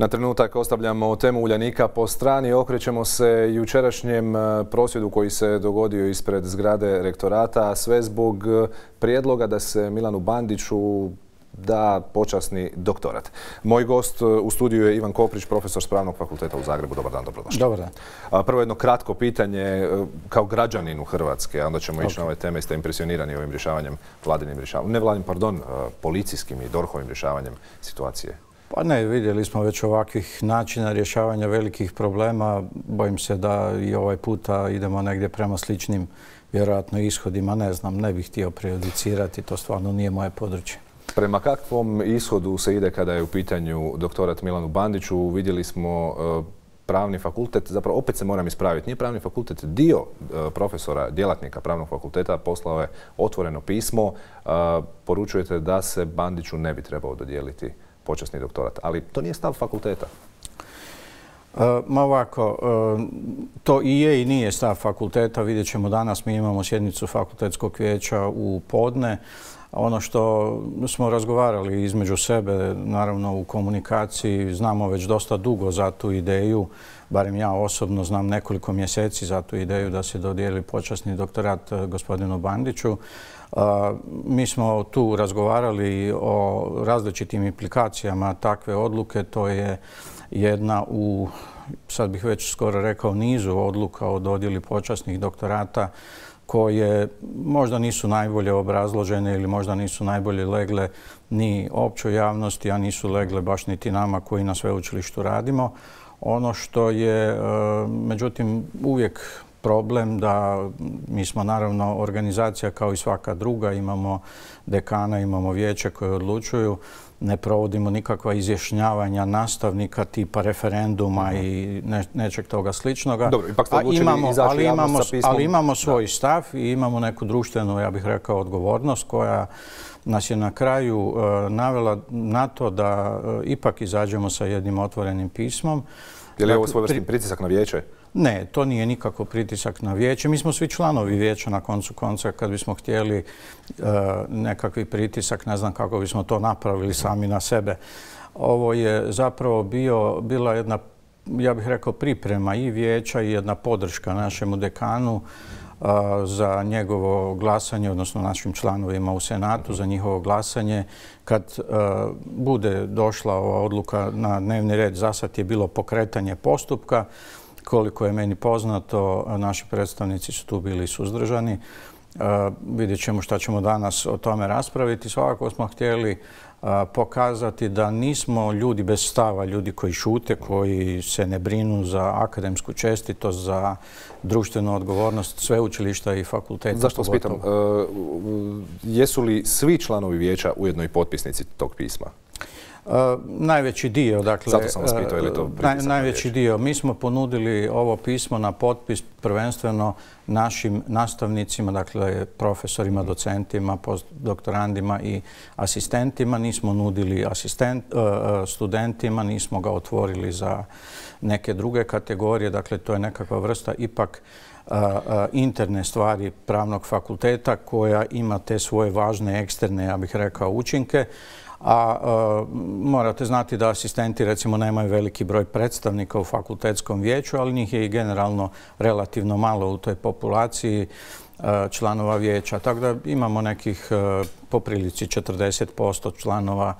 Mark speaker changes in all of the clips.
Speaker 1: Na trenutak ostavljamo temu Uljanika po strani, okrećemo se jučerašnjem prosvjedu koji se dogodio ispred zgrade rektorata, a sve zbog prijedloga da se Milanu Bandiću da počasni doktorat. Moj gost u studiju je Ivan Koprić, profesor s Pravnog fakulteta u Zagrebu. Dobar dan, dobrodošli.
Speaker 2: Dobar dan.
Speaker 1: Prvo jedno kratko pitanje kao građaninu Hrvatske, a onda ćemo ići na ove teme. Ste impresionirani ovim rješavanjem, policijskim i DORH-ovim rješavanjem situacije?
Speaker 2: Pa ne, vidjeli smo već ovakvih načina rješavanja velikih problema. Bojim se da i ovaj puta idemo negdje prema sličnim vjerojatno ishodima. Ne znam, ne bih htio prejudicirati, to stvarno nije moje područje.
Speaker 1: Prema kakvom ishodu se ide kada je u pitanju doktorat Milanu Bandiću? Vidjeli smo Pravni fakultet, zapravo opet se moram ispraviti, nije Pravni fakultet, dio profesora, djelatnika Pravnog fakulteta poslao je otvoreno pismo. Poručujete da se Bandiću ne bi trebao dodijeliti počasni doktorat, ali to nije stav fakulteta.
Speaker 2: Ma ovako, to i je i nije stav fakulteta. Vidjet ćemo danas, mi imamo sjednicu fakultetskog vijeća u podne. Ono što smo razgovarali između sebe, naravno u komunikaciji, znamo već dosta dugo za tu ideju, barem ja osobno znam nekoliko mjeseci za tu ideju da se dodijeli počasni doktorat gospodinu Bandiću. Mi smo tu razgovarali o različitim implikacijama takve odluke. To je jedna u, sad bih već skoro rekao, nizu odluka o dodjeli počasnih doktorata koje možda nisu najbolje obrazložene ili možda nisu najbolje legle ni općoj javnosti, a nisu legle baš niti nama koji na sveučilištu radimo. Ono što je, međutim, uvijek problem da mi smo naravno organizacija kao i svaka druga, imamo dekana, imamo vijeće koje odlučuju, ne provodimo nikakva izjašnjavanja nastavnika tipa referenduma i nečeg toga sličnoga.
Speaker 1: Dobro, ipak ste odlučili izaći javnost sa pismom.
Speaker 2: Ali imamo svoj stav i imamo neku društvenu, ja bih rekao, odgovornost koja nas je na kraju navela na to da ipak izađemo sa jednim otvorenim pismom.
Speaker 1: Je li ovo svojevrsni pritisak na vijeće?
Speaker 2: Ne, to nije nikako pritisak na vijeće. Mi smo svi članovi vijeća na koncu konca. Kad bismo htjeli nekakvi pritisak, ne znam kako bismo to napravili sami na sebe. Ovo je zapravo bila jedna, ja bih rekao, priprema i vijeća i jedna podrška našemu dekanu za njegovo glasanje, odnosno našim članovima u Senatu za njihovo glasanje. Kad bude došla ova odluka na dnevni red, zasad je bilo pokretanje postupka. Koliko je meni poznato, naši predstavnici su tu bili suzdržani. Vidjet ćemo šta ćemo danas o tome raspraviti. Svakako smo htjeli pokazati da nismo ljudi bez stava, ljudi koji šute, koji se ne brinu za akademsku čestitost, za društvenu odgovornost sveučilišta i fakulteta.
Speaker 1: Zašto vas pitam? Jesu li svi članovi vijeća ujedno i potpisnici tog pisma?
Speaker 2: Najveći dio, dakle,
Speaker 1: zato sam vas pitao, je li to pritisak na
Speaker 2: najveći dio. Mi smo ponudili ovo pismo na potpis prvenstveno našim nastavnicima, dakle profesorima, docentima, postdoktorandima i asistentima. Nismo nudili studentima, nismo ga otvorili za neke druge kategorije. Dakle, to je nekakva vrsta ipak interne stvari Pravnog fakulteta koja ima te svoje važne eksterne, ja bih rekao, učinke. A morate znati da asistenti recimo nemaju veliki broj predstavnika u fakultetskom vijeću, ali njih je i generalno relativno malo u toj populaciji članova vijeća. Tako da imamo nekih po prilici 40% članova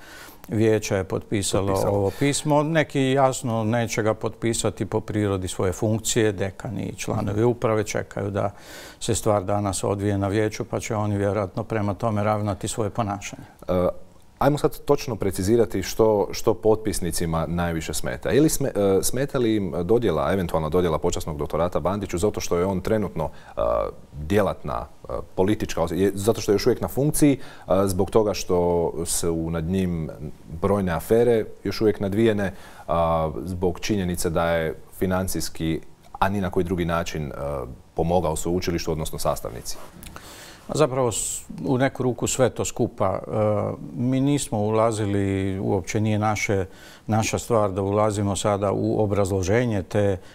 Speaker 2: vijeća je potpisalo ovo pismo. Neki jasno neće ga potpisati po prirodi svoje funkcije. Dekani i članovi uprave čekaju da se stvar danas odvije na vijeću, pa će oni vjerojatno prema tome ravnati svoje ponašanje.
Speaker 1: Ajmo sad točno precizirati što potpisnicima najviše smeta. Ili smeta li im eventualna dodjela počasnog doktorata Bandiću zato što je on trenutno djelatna politička, zato što je još uvijek na funkciji, zbog toga što su nad njim brojne afere još uvijek nadvijene, zbog činjenice da je financijski, a ni na koji drugi način pomogao sveučilištu, odnosno sastavnici?
Speaker 2: Zapravo u neku ruku sve to skupa. Mi nismo ulazili, uopće nije naša stvar da ulazimo sada u obrazloženje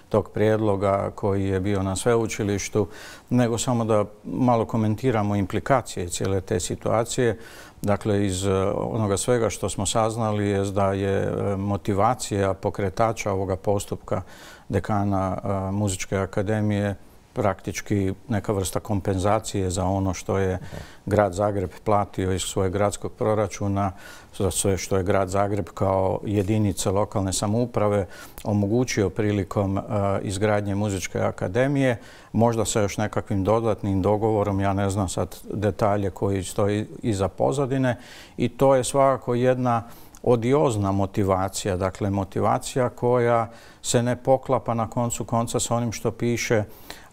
Speaker 2: tog prijedloga koji je bio na sveučilištu, nego samo da malo komentiramo implikacije cijele te situacije. Dakle, iz onoga svega što smo saznali je da je motivacija pokretača ovoga postupka dekana Muzičke akademije praktički neka vrsta kompenzacije za ono što je grad Zagreb platio iz svojeg gradskog proračuna, za sve što je grad Zagreb kao jedinica lokalne samouprave omogućio prilikom izgradnje Muzičke akademije, možda sa još nekakvim dodatnim dogovorom, ja ne znam sad detalje koji stoji iza pozadine, i to je svakako jedna odiozna motivacija, dakle motivacija koja se ne poklapa na koncu konca sa onim što piše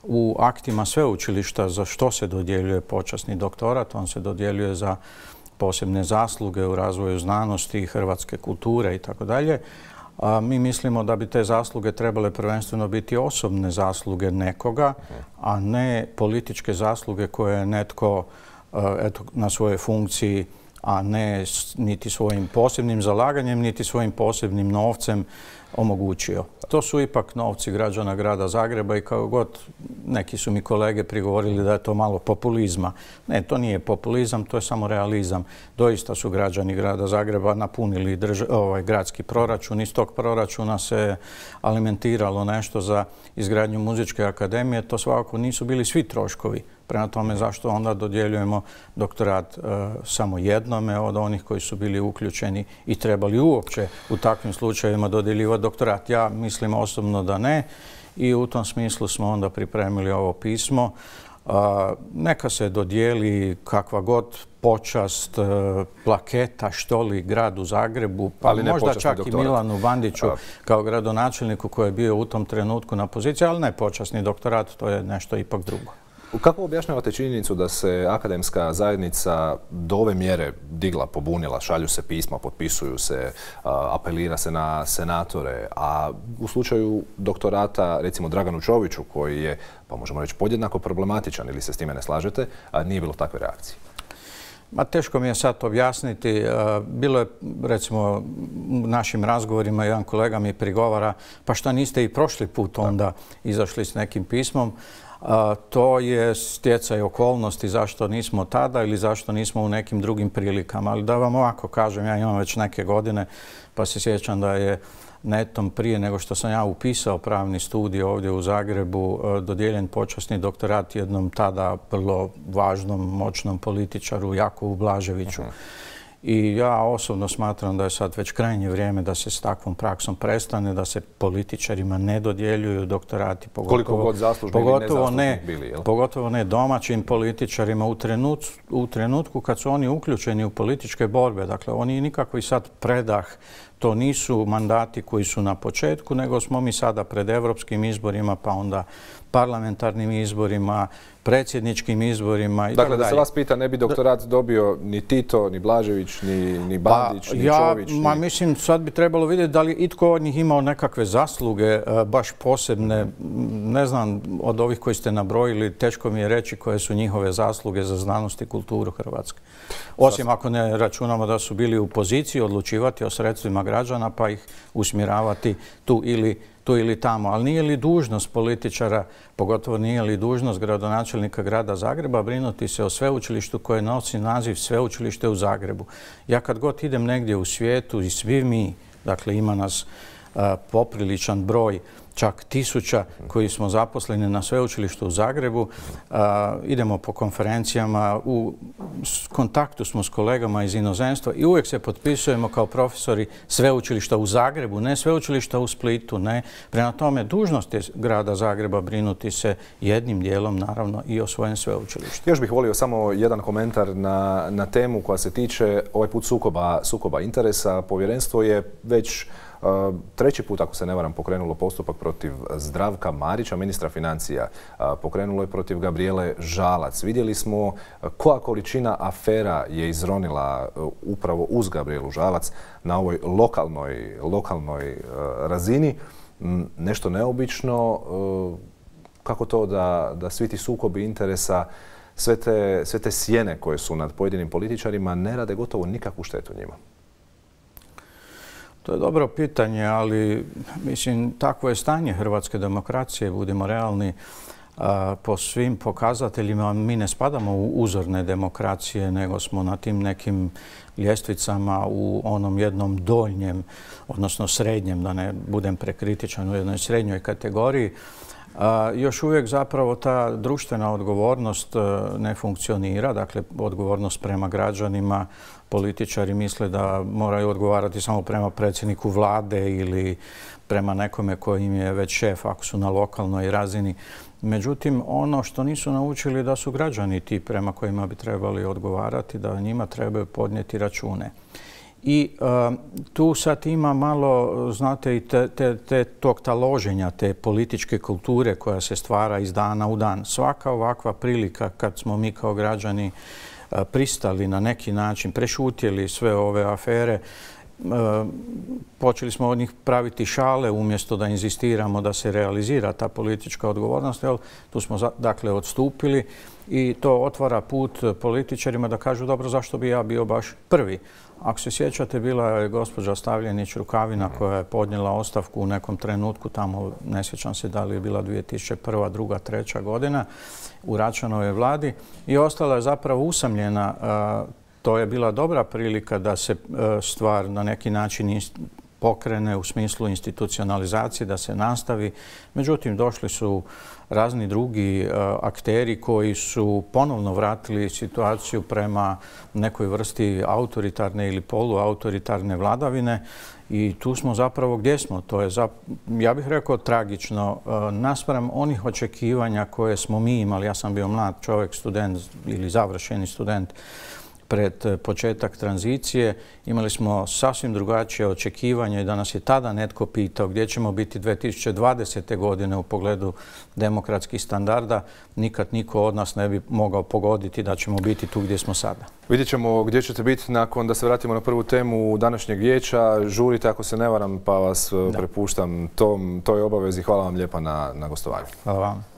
Speaker 2: u aktima sveučilišta za što se dodjeljuje počasni doktorat. On se dodjeljuje za posebne zasluge u razvoju znanosti, hrvatske kulture i tako dalje. Mi mislimo da bi te zasluge trebale prvenstveno biti osobne zasluge nekoga, a ne političke zasluge koje je netko na svojoj funkciji, a ne niti svojim posebnim zalaganjem, niti svojim posebnim novcem omogućio. To su ipak novci građana grada Zagreba i kao god neki su mi kolege prigovorili da je to malo populizma. Ne, to nije populizam, to je samo realizam. Doista su građani grada Zagreba napunili gradski proračun. Iz tog proračuna se alimentiralo nešto za izgradnju Muzičke akademije. To svakako nisu bili svi troškovi. Prema tome, zašto onda dodjeljujemo doktorat samo jednome od onih koji su bili uključeni i trebali uopće u takvim slučajevima dodjeljivati doktorat? Ja mislim osobno da ne i u tom smislu smo onda pripremili ovo pismo. Neka se dodijeli kakva god počast, plaketa, što li gradu Zagrebu, pa možda čak i Milanu Bandiću kao gradonačelniku koji je bio u tom trenutku na poziciji, ali ne počasni doktorat, to je nešto ipak drugo.
Speaker 1: Kako objašnjavate činjenicu da se akademska zajednica do ove mjere digla, pobunila, šalju se pisma, potpisuju se, apelira se na senatore, a u slučaju doktorata, recimo Draganu Čoviću, koji je, pa možemo reći, podjednako problematičan, ili se s time ne slažete, nije bilo takve reakcije?
Speaker 2: Teško mi je sad objasniti. Bilo je, recimo, u našim razgovorima jedan kolega mi prigovara, pa šta niste i prošli put onda izašli s nekim pismom? To je stjecaj okolnosti zašto nismo tada ili zašto nismo u nekim drugim prilikama. Ali da vam ovako kažem, ja imam već neke godine, pa se sjećam da je netom prije nego što sam ja upisao pravni studij ovdje u Zagrebu dodijeljen počasni doktorat jednom tada vrlo važnom, moćnom političaru Jakovu Blaževiću. I ja osobno smatram da je sad već krajnje vrijeme da se s takvom praksom prestane, da se političarima ne dodjeljuju doktorati, pogotovo ne domaćim političarima u trenutku kad su oni uključeni u političke borbe. Dakle, oni nikakvi sad predah, to nisu mandati koji su na početku, nego smo mi sada pred evropskim izborima, pa onda parlamentarnim izborima, predsjedničkim izborima i tako dalje.
Speaker 1: Dakle, da se vas pita, ne bi doktorat dobio ni Tito, ni Blažević, ni Bandić, ni Čović?
Speaker 2: Mislim, sad bi trebalo vidjeti da li itko od njih imao nekakve zasluge, baš posebne. Ne znam, od ovih koji ste nabrojili, teško mi je reći koje su njihove zasluge za znanost i kulturu Hrvatske. Osim ako ne računamo da su bili u poziciji odlučivati o sredstvima građana pa ih usmjeravati tu ili tamo. Ali nije li dužnost političara, pogotovo nije li dužnost gradonačelnika grada Zagreba brinuti se o sveučilištu koje nosi naziv Sveučilište u Zagrebu? Ja kad god idem negdje u svijetu i svi mi, dakle ima nas popriličan broj, čak 1000 koji smo zaposleni na sveučilištu u Zagrebu. Idemo po konferencijama, u kontaktu smo s kolegama iz inozemstva i uvijek se potpisujemo kao profesori sveučilišta u Zagrebu, ne sveučilišta u Splitu, ne. Prema tome, dužnost je grada Zagreba brinuti se jednim dijelom, naravno, i o svojem sveučilištu.
Speaker 1: Još bih volio samo jedan komentar na temu koja se tiče ovaj put sukoba interesa. Povjerenstvo je već treći put, ako se ne varam, pokrenulo postupak protiv Zdravka Marića, ministra financija. Pokrenulo je protiv Gabrijele Žalac. Vidjeli smo koja količina afera je izronila upravo uz Gabrijelu Žalac na ovoj lokalnoj razini. Nešto neobično. Kako to da svi ti sukobi interesa sve te sjene koje su nad pojedinim političarima ne rade gotovo nikakvu štetu njima?
Speaker 2: To je dobro pitanje, ali mislim, takvo je stanje hrvatske demokracije, budimo realni. Po svim pokazateljima mi ne spadamo u uzorne demokracije, nego smo na tim nekim ljestvicama u onom jednom donjem, odnosno srednjem, da ne budem prekritičan, u jednoj srednjoj kategoriji. Još uvijek zapravo ta društvena odgovornost ne funkcionira, dakle odgovornost prema građanima. Političari misle da moraju odgovarati samo prema predsjedniku vlade ili prema nekome koji im je već šef ako su na lokalnoj razini. Međutim, ono što nisu naučili da su građani ti prema kojima bi trebali odgovarati, da njima trebaju podnijeti račune. I tu sad ima malo, znate, i tog taloženja, te političke kulture koja se stvara iz dana u dan. Svaka ovakva prilika kad smo mi kao građani pristali na neki način, prešutjeli sve ove afere, počeli smo od njih praviti šale umjesto da inzistiramo da se realizira ta politička odgovornost. Tu smo dakle odstupili i to otvara put političarima da kažu dobro, zašto bi ja bio baš prvi. Ako se sjećate, bila je gospođa Stavljenić Rukavina koja je podnijela ostavku u nekom trenutku, tamo ne sjećam se da li je bila 2001., 2., 3. godina u Račanovoj vladi i ostala je zapravo usamljena. To je bila dobra prilika da se stvar na neki način pokrene u smislu institucionalizacije, da se nastavi. Međutim, došli su razni drugi akteri koji su ponovno vratili situaciju prema nekoj vrsti autoritarne ili poluautoritarne vladavine i tu smo zapravo gdje smo. To je, ja bih rekao, tragično naspram onih očekivanja koje smo mi imali. Ja sam bio mlad čovjek, student ili završeni student pred početak tranzicije. Imali smo sasvim drugačije očekivanje i da nas je tada netko pitao gdje ćemo biti 2020. godine u pogledu demokratskih standarda, nikad niko od nas ne bi mogao pogoditi da ćemo biti tu gdje smo sada.
Speaker 1: Vidjet ćemo gdje ćete biti nakon, da se vratimo na prvu temu današnjeg vijeća. Žurite ako se ne varam, pa vas prepuštam toj obavezi. Hvala vam lijepa na gostovanju.
Speaker 2: Hvala vam.